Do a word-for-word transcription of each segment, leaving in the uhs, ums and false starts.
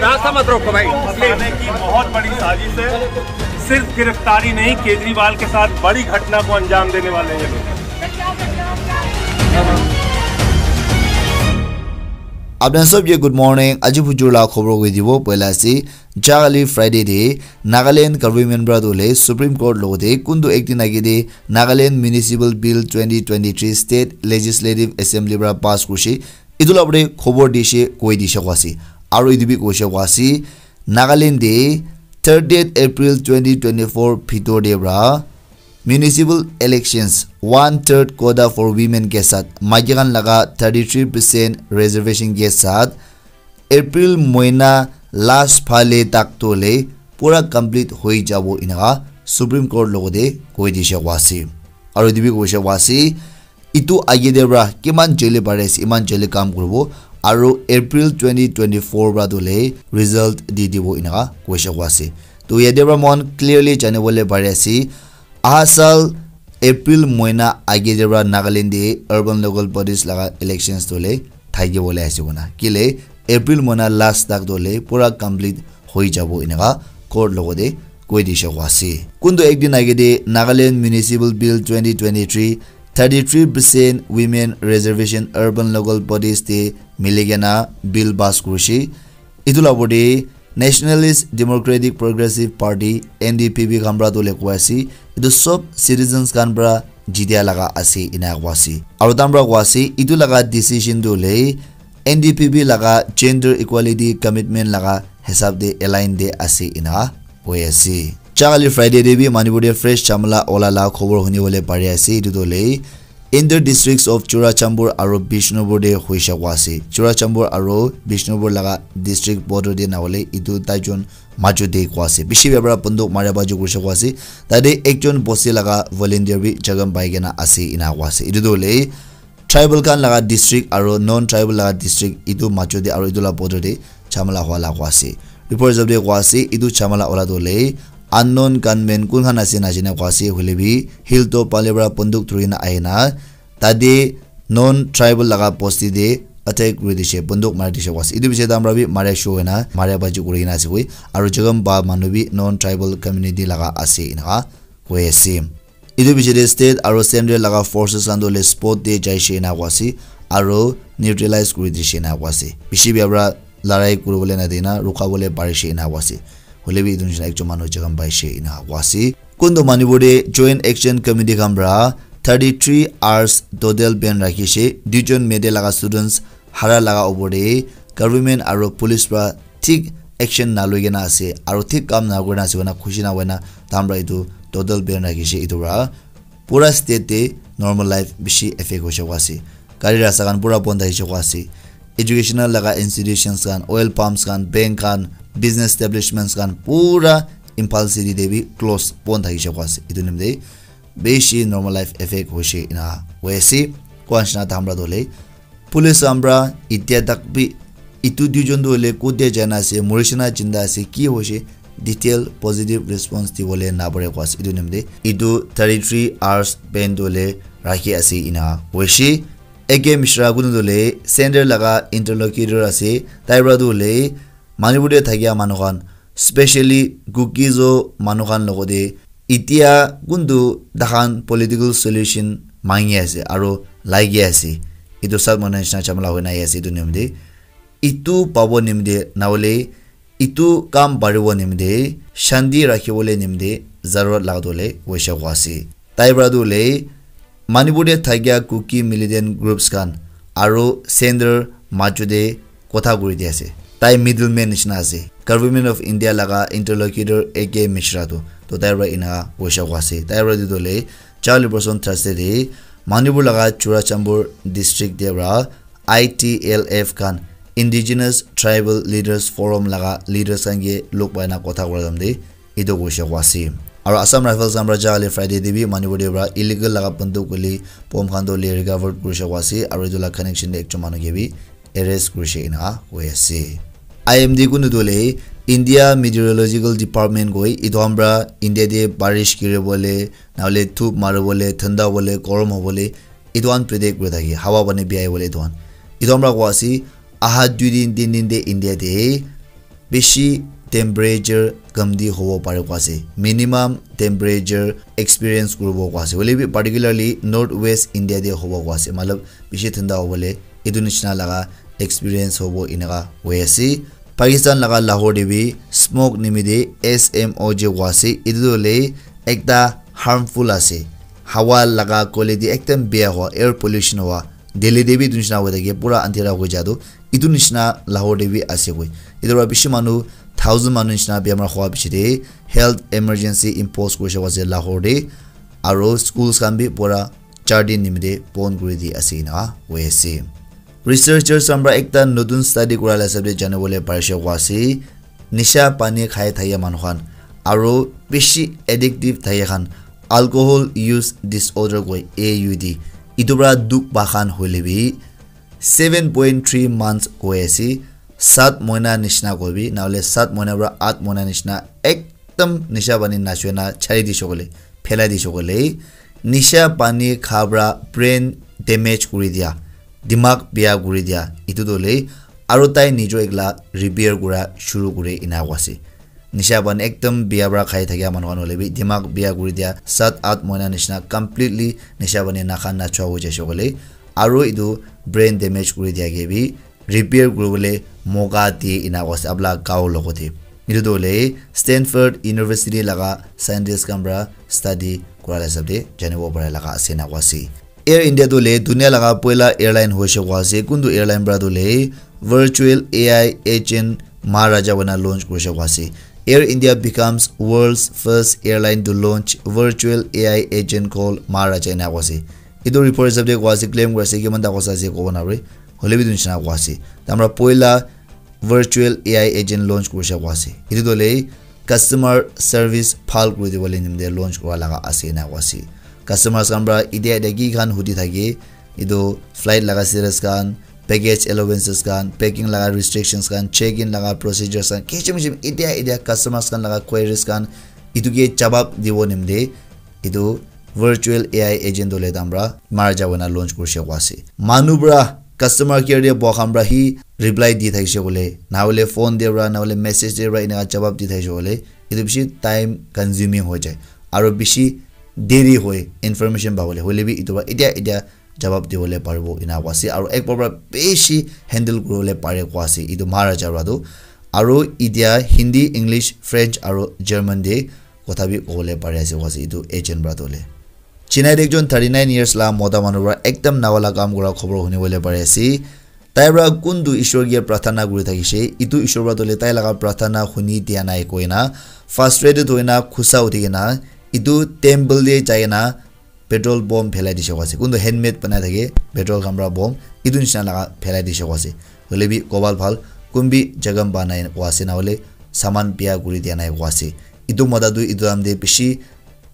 रास्ता मत रोको भाई, प्लीज। की बहुत बड़ी साजिश है। सिर्फ गिरफ्तारी नहीं, केजरीवाल के साथ बड़ी घटना को अंजाम देने वाले हैं ये लोग। Apna sob ke good morning. Aji bujur la khobor koi dibo. Poila ase, jali Friday de Nagaland government pra dole Supreme Court logote kuntu ek din age de Nagaland Municipal Bill twenty twenty-three State Legislative Assembly pra pass kurishe. Etu la upor te khobor dishe, koi dishe koa ase. Aro etu bi koishe koa ase, Nagaland de thirtieth April twenty twenty-four bhitor de pra municipal elections one third quota for women ke sath, maiki khan laga thirty-three percent reservation ke sath, April moina last phale tak to le pura complete hoi jabo inaka Supreme Court logote koi dishe koa ase. Aro etu bi koishe koa ase, etu age de pra kiman joldi pare ase, iman joldi kam kuribo, aro April twenty twenty-four pra to le result di dibo inaka koishe koa ase. To yate pra moikhan clearly jani bole pare ase, aha sal April moina age de pra Nagaland de urban local bodies laga elections to le thaki bole ase koina. Kile April moina last tak to le pura complete hoi jabo inaka court logote koi dishe koa ase. Kuntu ek din age de Nagaland Municipal Bill twenty twenty-three, thirty-three percent women reservation urban local bodies te mili kena bill pass kurishe. Etu la upor te Nationalist Democratic Progressive Party, N D P P khan pra to le koa ase, etu sob citizens khan pra jitia laga ase ina koa ase. Aro tai khan pra koa ase, etu laga decision to le N D P P laga gender equality commitment laga hisab de align de ase ina koi ase. Jali Friday de bi Manipur de fresh jhamala ola la khobor huni bole pari ase, etu to le inter districts of Churachandpur aro Bishnupur de hoishe koa ase. Churachandpur aro Bishnupur laga district border de na hole etu tai jon majo de koa ase. Bishi bia para bunduk maria baji kurishe koa ase. Tate ekjon bosti laga volunteer bi jakham pai kena ase ina koa ase. Etu to hole tribal khan laga district aro non tribal laga district etu majo de aro etu la border de jhamala hua la koa ase. Report hisab de koa ase, etu jhamala ola to hole unknown gunmen kun khan ase najane koa ase, hoile bi hilltop phale para bunduk dhuri na ahi na tate non tribal laga bosti de attack kuri dishe, bunduk mari dishe koa ase. Etu piche tai khan para bi maria shuru hoi na maria baji kuri kena ase koi, aro jakham pa manu bi non tribal community laga ase ina koi ase. Etu piche de state aro central laga forces khan to hole spot de jaishe ina koa ase, aro neutralize kuri dishe ina koa ase. Bishi bia para larai kuri bole na dina rukha bole parishe ina koa ase. Hole bi etu nishina ekjon manu jakham paishe ina koa ase. Kuntu Manipur de Joint Action Committee khan para thirty-three hours total ban rakhishe. Duijon mete laga students hara laga opor de government aro police para thik action na loi kena ase, aro thik kam na kuri na ase koina khushi na hoina tai khan para etu total ban rakhishe. Etu para pura state de normal life bishi affect hoishe koa ase. Gari rasta khan pura bon thakishe koa ase. Educational laga institutions khan, oil pumps khan, bank khan, business establishments khan pura Imphal city de bi close bon thakishe koa ase. Etu nimite bishi normal life affect hoishe ina hoi ase. Koa nishina tai khan para to hole police khan para itia tak bi etu duijon to hole kote jaina ase, morishe na jinda ase, ki hoishe, detail positive response dibole na pare koa ase. Etu nimite etu thirty-three hours ban to hole rakhi ase ina hoishe. A K Mishra kunu to hole center laga interlocutor ase, tai para to hole Manipur de thakia manu khan, specially Kuki-Zo manu khan logote itia kuntu tai khan political solution mangi ase aro lagi ase. Etu sab manu nishina jhamala hoina ahi ase etu nimite. Etu pabo nimite na hole etu kam paribo nimite shanti rakhi bole nimite zarurat laga to hole hoishe koa ase. Tai para to hole Manipur de thakia Kuki militant groups khan aro center majo de kotha kuri di ase. Tai middleman nishina ase. Government of India laga interlocutor A K Mishra tu. To tai para ina hoishe koa ase. Tai para etu to hole jali person Thursday de Manipur laga Churachandpur district de para I T L F khan, Indigenous Tribal Leaders Forum laga leaders khan ke log pai na kotha kura time de etu koishe koa ase. Aro Assam Rifles khan para jali Friday de bi Manipur de para illegal laga bunduk guli bomb khan to hole recover kurishe koa ase, aro etu la connection de ekjon manu ke bi arrest kurishe ina koi ase. I M D kunu to hole India Meteorological Department koi, etu khan para India de barish giri bole, na hole dhup mari bole, thanda bole, gorom ho bole, etu khan predict kuri thake, hawa pani bi ahi bole etu khan. Etu khan para koa ase, aha dui din, tin din de India de bishi temperature kamti hobo pare koa ase, minimum temperature experience kuribo koa ase, hoile bi particularly north west India te hobo koa ase, matlab bishi thanda hobole etu nishina laga experience hobo eneka hoi ase. Pakistan laga Lahore te bi smoke nimite S M O G koa ase, etu tu hoile ekta harmful ase, hawa laga quality ekdam bia hoa, air pollution hoa, Delhi te bi etu nishina hoi thake, pura andhera hoi ja tu, etu nishina Lahore te bi ase koi. Etu para bishi manu, thousand manu nishina bemar hoa piche te health emergency impose kurishe koa ase Lahore te, aro schools khan bi pura char din nimite bon kuri di ase eneka hoi ase. Researchers khan para ekta notun study kura la hisab te jani bole parishe koa ase, nisha pani khai thake manu khan aro bishi addictive thake khan, alcohol use disorder koi, A U D, etu para dukh pa khan hoile bi seven point three months koi ase, sat moina nishina koi bi, nahole sat moina para at moina nishina ekdam nisha pani nachoi na chari dishe koile, phelai dishe koile, nisha pani kha para brain damage kuri dia, dimag bia kuri dia, etu tu hoile aro tai nijo ekla repair kura shuru kure eneka koa ase. Nisha pani ekdam bia para khai thakia manu khan hoile bi dimag bia kuri dia, sat at moina nishina completely nisha pani nakha nachua hoi jaishe koile, aro etu brain damage kuri dia ke bi repair kuribole moka diye eneka koa ase apna gao logote. Etu tu hoile Stanford University laga scientist khan para study kura la hisab te janibo para laga ase eneka koa ase. Air India tu hoile dunia laga poila airline hoishe koa ase. Kuntu airline para tu hoile virtual A I agent Maharaja hoina launch kurishe koa ase. Air India becomes world's first airline to launch virtual A I agent called Maharaja eneka koa ase. Etu report hisab te koa ase, claim kuri ase, kiman ta kosa ase kobo nare. Hoile bi etu nishina koa ase. Tai para poila virtual A I agent launch kurishe koa ase. Etu tu hoile customer service bhal kuri dibole nimite launch kura laga ase eneka koa ase. Customers khan para etia etia ki khan hudi thake, etu flight laga status khan, package allowances khan, packing laga restrictions khan, check in laga procedures khan, kichim kichim etia etia customers khan laga queries khan, etu ke jawab dibo nimite etu virtual A I agent tu hoile tai para Maharaja hoina launch kurishe koa ase. Manu para customer care te boha khan para hi reply di thakishe koile, nahole phone te para, nahole message te para eneka jawab di thakishe koile, etu bishi time consuming hoi jai, aro bishi deri hoi information pabole. Hoile bi etu para etia etia jawab dibole paribo eneka koa ase, aro ek baar para bishi handle kuribole pare koa ase etu Maharaja para tu. Aro etia Hindi, English, French aro German te kotha bi kobole pari ase koa ase etu agent para tu hoile. Chennai te ekjon thirty nine years la mota manu para ekdam nawa la kam kura khobor huni bole pari ase. Tai para kuntu Ishwar ke prarthana kuri thakishe, etu Ishwar para tu hoile tai laga prarthana huni dia nai koina frustrated hoina khusa uthi kena etu temple te jai kena petrol bomb phelai dishe koa ase. Kuntu handmade banai thake, petrol khan para bomb, etu nishina laga phelai dishe koa ase. Hoile bi kobal bhal, kun bi jagam banai koa ase, nahole saman bia kuri dia nai koa ase. Etu mota tu etu time te bishi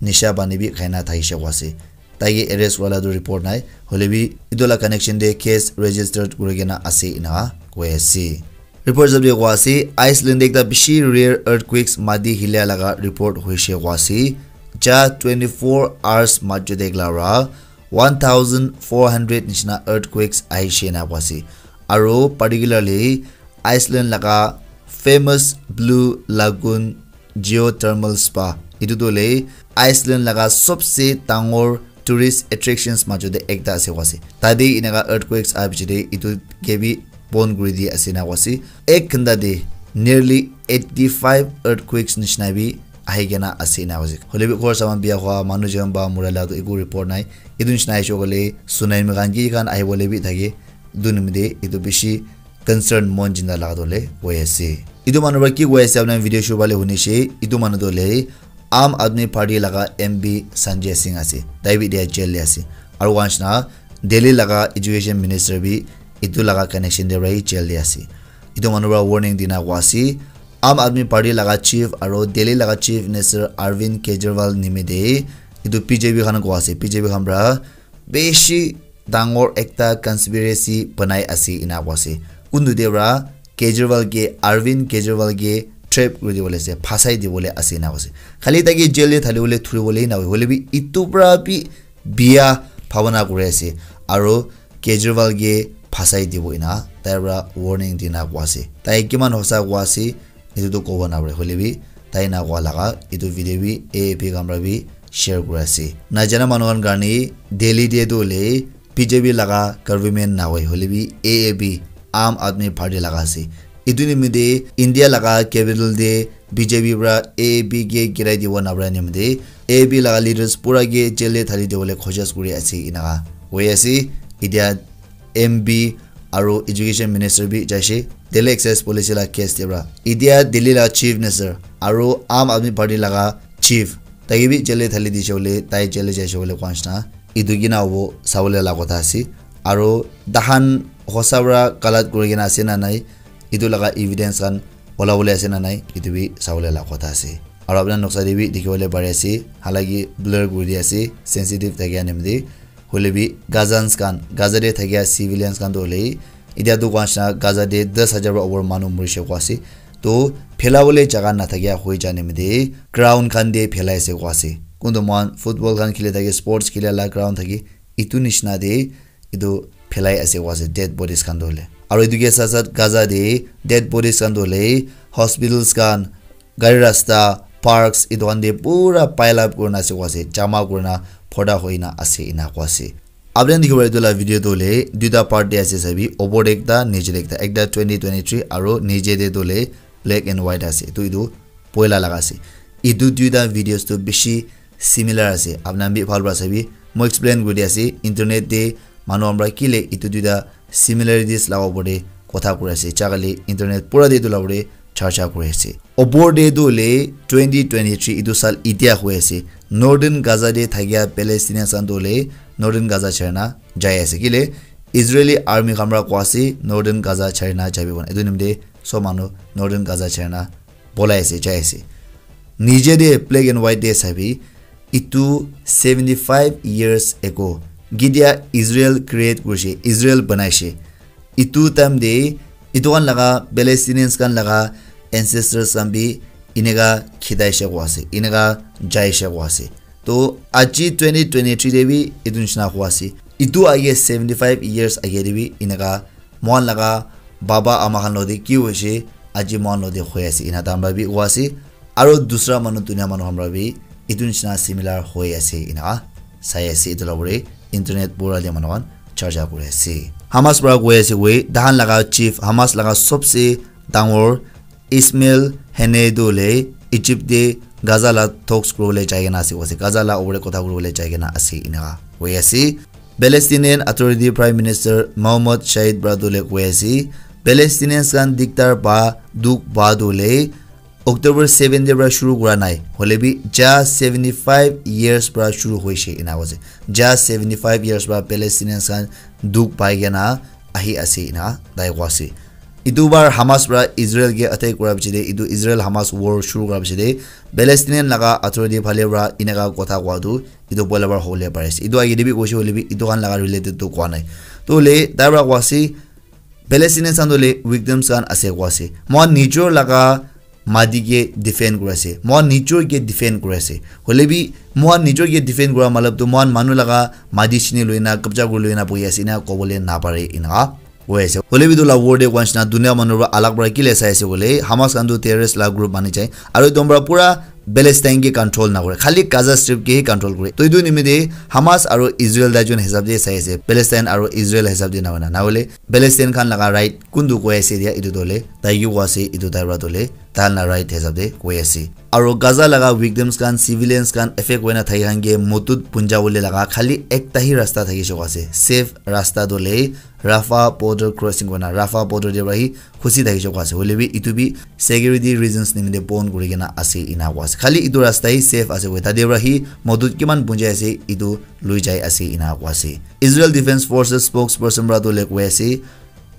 nisha pani bi khai na thakishe koa ase. Tai ke arrest kura la tu report nai, hoile bi etu la connection te case registered kuri kena ase eneka koi ase. Report hisab te koa ase, Iceland te ekta bishi rare earthquakes, mati hilia laga report hoishe koa ase. Ja twenty four hours majot te ekla para one thousand four hundred nishina earthquakes ahishe na koa ase. Aro particularly Iceland laga famous Blue Lagoon Geothermal Spa, etu tu hoile Iceland laga sobse dangor tourist attractions majot te ekta ase koa ase. Tate eneka earthquakes aha piche te etu ke bi bon kuri di ase na koa ase. Ek ghanta te nearly eighty five earthquakes nishina bi ahi kena ase na koa ase. Hoile bi ghor saman bia hua, manu jon ba mura la tu eku report nai. Etu nishina ahishe koile tsunami khan ki khan ahi bole bi thake. Etu nimite etu bishi concern mon jinda laga tu hoile koi ase. Etu manu para ki koi ase apni khan video shuru phale huni she, etu manu tu hoile Aam Aadmi Party laga M P Sanjay Singh ase. Tai bi etia jail te ase. Aru one nishina Delhi laga education minister bi etu laga connection te para hi jail te ase. Etu manu para warning dina koa ase. Aam Aadmi Party laga chief aru Delhi laga chief minister Arvind Kejriwal nimite etu B J P khan koa ase. B J P khan para bishi dangor ekta conspiracy banai ase ena koa ase. Kuntu te para Kejriwal ke, Arvind Kejriwal ke trap kuri dibole ase, phasai dibole ase ena koa ase. Khali tai ke jail te thali bole thuri bole na hoi, hoile bi etu para bi bia bhabana kuri ase. Aru Kejriwal ke phasai dibo ena tai para warning dina koa ase. Tai kiman hosa koa ase, etu tu kobo napare. Hoile bi tai na koa laga etu video bi A A P khan para bi share kuri ase. Najana manu khan karne Delhi te tu hoile B J P laga government na hoi, hoile bi A A P, Aam Aadmi Party laga ase. Etu nimite India laga capital te B J P para A A P ke girai dibo napare nimite A A P laga leaders pura ke jail te thali dibole koshish kuri ase, enaka hoi ase. Etia M P aru education minister bi jaise Delhi excise policy la case te para. Etia Delhi la chief minister aru Aam Aadmi Party laga chief, tai ke bi jail te thali dise bole, tai jail te jaise bole koa nishina. Etu kina hobo sabole la kotha ase. Aru tahan hosa para galat kuri kena ase na nai, etu laga evidence khan ola bole ase na nai, etu bi sabole la kotha ase. Aru apni khan noksa te bi dikhi bole pari ase, halaki blur kuri di ase, sensitive thakia nimite. Hoile bi Gazans khan, Gaza te thakia civilians khan tu hoile, etia tu koa nishina Gaza te das hajar para upor manu morise koa ase. To phela bole jaga na thakia hoi ja nimite ground khan te phelai ase koa ase. Kuntu moikhan football khan khili thake, sports khili la ground thake, etu nishina te etu phelai ase koa ase dead bodies khan tu hoile. Aru etu ke sat sat Gaza te dead bodies khan tu hoile hospitals khan, gari rasta, parks, etu khan te pura pile up kurina ase koa ase, jama kurina phota hoina ase ena koa ase. Apni khan dikhibo etu la video tu hoile duita part te ase sabi, opor te ekta, niche te ekta, ekta twenty twenty-three aru niche te tu hoile black and white ase. Etu etu poila laga ase. Etu duita videos tu bishi similar ase. Apni khan bi bhal para sabi, moi explain kuri di ase. Internet te manu khan para kile etu duita similarities laga opor te kotha kuri ase. Chakali internet pura te etu laga opor te charcha kuri ase. Opor te etu hoile twenty twenty-three etu sal etia hoi ase. Northern Gaza te thakia Palestinians khan tu hoile Northern Gaza chari na jai ase. Kile Israeli army khan para koa ase Northern Gaza chari na jabi kona. Etu nimite sob manu Northern Gaza chari na bolai ase, jai ase. Niche te black and white te sabi, etu seventy five years ago, ketia Israel create kurise, Israel banaise. Etu time te, etu khan laga, Palestinians khan laga ancestors khan bi eneka khitaise koa ase, eneka jaise koa ase. To aji twenty twenty-three te bi etu nishina koa ase. Etu age seventy five years age te bi eneka moikhan laga baba ama khan lode ki hoise, aji moikhan lode hoi ase, ena tahan para bi koa ase. Aru dusra manu, dunia manu khan para bi etu nishina similar hoi ase, ena sai ase. Etu la opor te internet pura te manu khan charcha kuri ase. Hamas para koi ase koi, tahan laga chief, Hamas laga sobse dangor Ismail Haniyeh tu hoile Egypt te Gaza la talks kuribole jai kena ase koa ase. Gaza la opor te kotha kuribole jai kena ase, eneka hoi ase. Palestinian Authority Prime Minister Mohammad Shahid para tu hoile koi ase, Palestinians khan diktar pa, dukh pa tu hoile October seven te para shuru kura nai. Hoile bi just seventy five years para shuru hoise, ena koa ase. Just seventy five years para Palestinians khan dukh pai kena ahi ase, ena tai koa ase. Etu bar Hamas para Israel ke attack kura piche te, etu Israel Hamas war shuru kura piche te, Palestinian laga authority phale para eneka kotha koa tu, etu poila bar hobole pari ase. Etu age te bi koise hoile bi, etu khan laga related tu koa nai. To hoile, tai para koa ase, Palestinians khan tu hoile victims khan ase koa ase. Moikhan nijor laga mati ke defend kuri ase. Moikhan nijor ke defend kuri ase. Hoile bi, moikhan nijor ke defend kura matlab tu, moikhan manu laga mati chini loi na, kabja kuri loi na bohi ase, ena kobole napare, ena koi ase. Hoile bi etu la war te koa nishina dunia manu para alag para kile sai ase koile, Hamas khan tu terrorist la group mani jai. Aru etu para pura Palestine ke control na kore. Khali Gaza Strip ke hi control kore. To etu nimite Hamas aru Israel tai jun hisab te sai ase. Palestine aru Israel hisab te na hoina. Na hoile Palestine khan laga right kuntu koi ase dia etu tu hoile. Tai ki koi ase etu tai para tu hoile. Tahan la right hisab te koi ase. Aru Gaza laga victims khan, civilians khan, affect hoina thaki khan ke mudut punja bole laga khali ekta hi rasta thakise koa ase. Safe rasta tu hoile Rafah border crossing koina, Rafah border te para hi khusi thakise koa ase. Hoile bi etu bi security reasons nimite bon kuri kena ase ena koa ase. Khali etu rasta hi safe ase koi. Tate para hi mudut kiman punjai ase, etu lui jai ase ena koa ase. Israel Defense Forces spokesperson para tu hoile koi ase,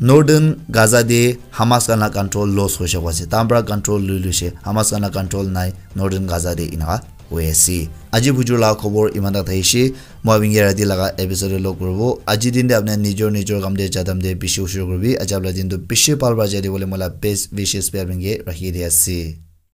Northern Gaza te Hamas khan la control loss hoise koa ase. Tahan para control lui luise. Hamas khan la control nai Northern Gaza te, eneka koi ase. Aji bujur la khobor iman tak thakise. Moi apni ke rati laga episode te log kuribo. Aji din te apni nijor nijor kam te jadam te bishi ushur kuribi. Aji apni la din tu bishi bhal para jai de bole moi la best wishes bi apni ke rakhi di ase.